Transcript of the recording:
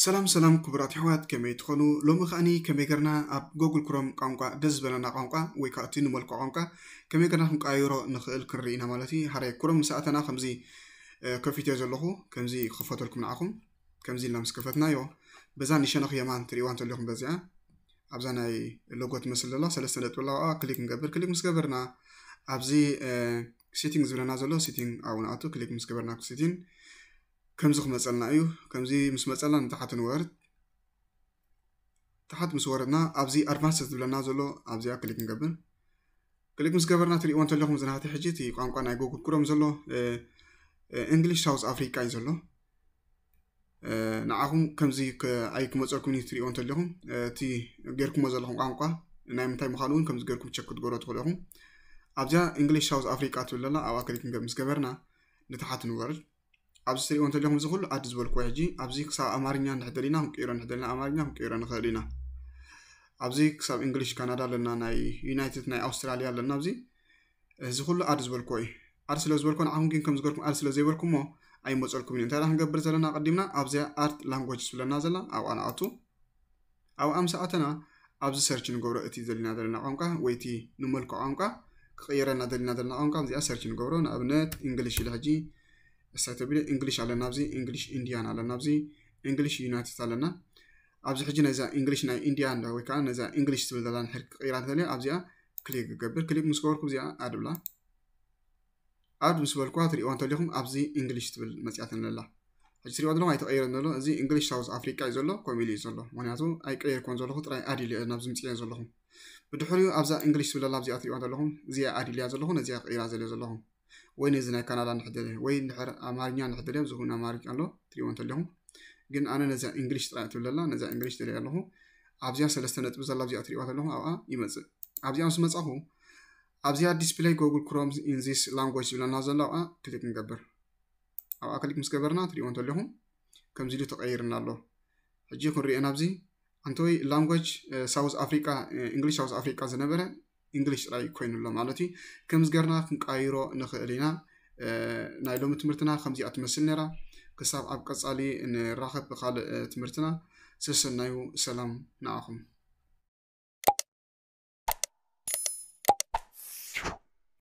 ሰላም ሰላም ክቡራት ኣሕዋት፣ ከመይ ትኾኑ? ሎሚ ከኣኒ ከመይ ገርና ኣብ ጎግል ክሮም ቋንቋ ደስ ዝበለና ቋንቋ ወይ ከዓ እቲ ንመልክዖ ቋንቋ ከመይ ገርና ክንቀያይሮ ንኽእል ክንርኢ ኢና ማለት እዩ። ሃራይ ክሮም ምስ ኣተና ከምዚ ከፊትዮ ዘለኹ፣ ከምዚ ክኸፈተልኩም ንዓኹም። ከምዚ ኢልና ምስ ከፈትናዮ በዛ ንሸነኽ የማን ትርእይዋ እንተለኹም በዚኣ ኣብዛ ናይ ሎጎ ትመስል ዘላ ሰለስተ ነጥቢ ኣለዋ። ክሊክ ንገብር። ክሊክ ምስ ገበርና ኣብዚ ሴቲንግ ዝብለና ዘሎ ሴቲንግ ኣብኡ ንኣቱ። ክሊክ ምስ ገበርና ሴቲንግ ከምዚ ክመፀልና እዩ። ከምዚ ምስ መፀልና ንታሓት ንወርድ። ታሓት ምስ ወረድና ኣብዚ ኣድቫንስ ዝብለና ዘሎ ኣብዚኣ ክሊክ ንገብር። ክሊክ ምስ ገበርና ትርእይዎ እንተለኹም ዝናህቲ ሕጂ እቲ ቋንቋ ናይ ጎግል ክሮም ዘሎ እንግሊሽ ሳውዝ ኣፍሪካ እዩ ዘሎ። ንዓኹም ከምዚ ኣይክመፀልኩም እዩ ትርእይዎ እንተለኹም እቲ ጌርኩሞ ዘለኹም ቋንቋ ናይ ምንታይ ምዃኑ እውን ከምዚ ጌርኩም ቸክ ክትገብሮ ትኽእሉ ኢኹም። ኣብዚኣ እንግሊሽ ሳውዝ ኣፍሪካ ትብል ዘላ ኣብኣ ክሊክ ምስ ገበርና ንታሓት ንወርድ። ኣብዚ ትርእይዎ እንተለኹም እዚ ኩሉ ኣድ ዝበልኩዎ ሕጂ ኣብዚ ክሳብ ኣማርኛ እንድሕር ደሊና ክንቅይሮ እንድሕር ደሊና ኣማርኛ ክንቅይሮ ንኽእል ኢና። ኣብዚ ክሳብ እንግሊሽ ካናዳ ኣለና፣ ናይ ዩናይትድ ናይ ኣውስትራልያ ኣለና። ኣብዚ እዚ ኩሉ ኣድ ዝበልኩዎ እዩ። ኣድ ስለ ዝበልኩዎ ንዓኹም ግን ከም ዝገርኩም ኣድ ስለ ዘይበልኩሞ ኣይመፀልኩም እዩ። እንታይ ደኣ ክንገብር ዘለና ቀዲምና ኣብዚኣ ኣድ ላንጎጅ ዝብለና ዘላ ኣብኣ ንኣቱ። ኣብኣ ምስ ኣተና ኣብዚ ሰርች ንገብሮ እቲ ዘልና ዘለና ቋንቋ ወይ እቲ ንመልክዖ ቋንቋ ክቕየረልና ዘለና ዘለና ቋንቋ ኣብዚኣ ሰርች ንገብሮ። ንኣብነት እንግሊሽ ኢለ ሕጂ እሳይ ተቢለ እንግሊሽ ኣለና ኣብዚ፣ እንግሊሽ ኢንዲያን ኣለና ኣብዚ፣ እንግሊሽ ዩናይትድ ኣለና። ኣብዚ ሕጂ ነዛ እንግሊሽ ናይ ኢንዲያን ወይ ከዓ ነዛ እንግሊሽ ትብል ዘላ ንሕር ክቕይራ እንተልየ ኣብዚኣ ክሊክ ክገብር። ክሊክ ምስ ገበርኩ እዚኣ ኣድብላ ኣድ ምስ በልኩዋ ትሪእዋ እንተሊኹም ኣብዚ እንግሊሽ ትብል መፅያትን ኣላ። ሕጂ ትሪእዋ ዘለኹም ኣይተቐይረን ዘሎ። እዚ እንግሊሽ ሳውዝ ኣፍሪቃ እዩ ዘሎ፣ ከምኡ ኢሉ እዩ ዘሎ። ምክንያቱ ኣይቀየርኩዎን ዘለኹ፣ ጥራይ ኣድ ኢለ ናብዚ ምፅኤ ዘለኹ። ብድሕሪኡ ኣብዛ እንግሊሽ ትብል ኣላ ኣብዚኣ ትሪእዋ ዘለኹም፣ እዚኣ ኣድ ኢለያ ዘለኹ፣ ነዚኣ ቀይራ ዘለ ዘለኹ። ወይ ነዚ ናይ ካናዳ እንድሕር ደልየ፣ ወይ እንድሕር ኣማርኛ እንድሕር ደልየ፣ ኣብዚ እውን ኣማርኛ ኣሎ፣ ትሪእዎ እንተሊኹም። ግን ኣነ ነዚኣ እንግሊሽ ጥራይ ትብል ኣላ፣ ነዚኣ እንግሊሽ ደልየ ኣለኹ። ኣብዚኣ ሰለስተ ነጥቢ ዘላ ኣብዚኣ ትሪእዋ ዘለኹም ኣብኣ ይመፅእ። ኣብዚኣ ምስ መፃኹ ኣብዚኣ ዲስፕሌይ ጎግል ክሮም ኢን ዚስ ላንጉጅ ዝብለና ዘሎ ኣብኣ ክሊክ ንገብር። ኣብኣ ክሊክ ምስ ገበርና ትሪእዎ እንተለኹም ከምዚ ኢሉ ተቐይርና ኣሎ። ሕጂ ክንሪኦ ናብዚ ኣንተወይ ላንጉጅ ሳውዝ ኣፍሪቃ፣ እንግሊሽ ሳውዝ ኣፍሪቃ ዝነበረ እንግሊሽ ጥራይ ኮይኑ ኣሎ ማለት እዩ። ከምዚ ገርና ክንቀይሮ ንኽእል ኢና። ናይ ሎሚ ትምህርትና ከምዚኣ ትመስል ነራ። ክሳብ ኣብ ቀጻሊ ንራኸብ ብኻልእ ትምህርትና። ሰሰናዩ፣ ሰላም ንዓኹም።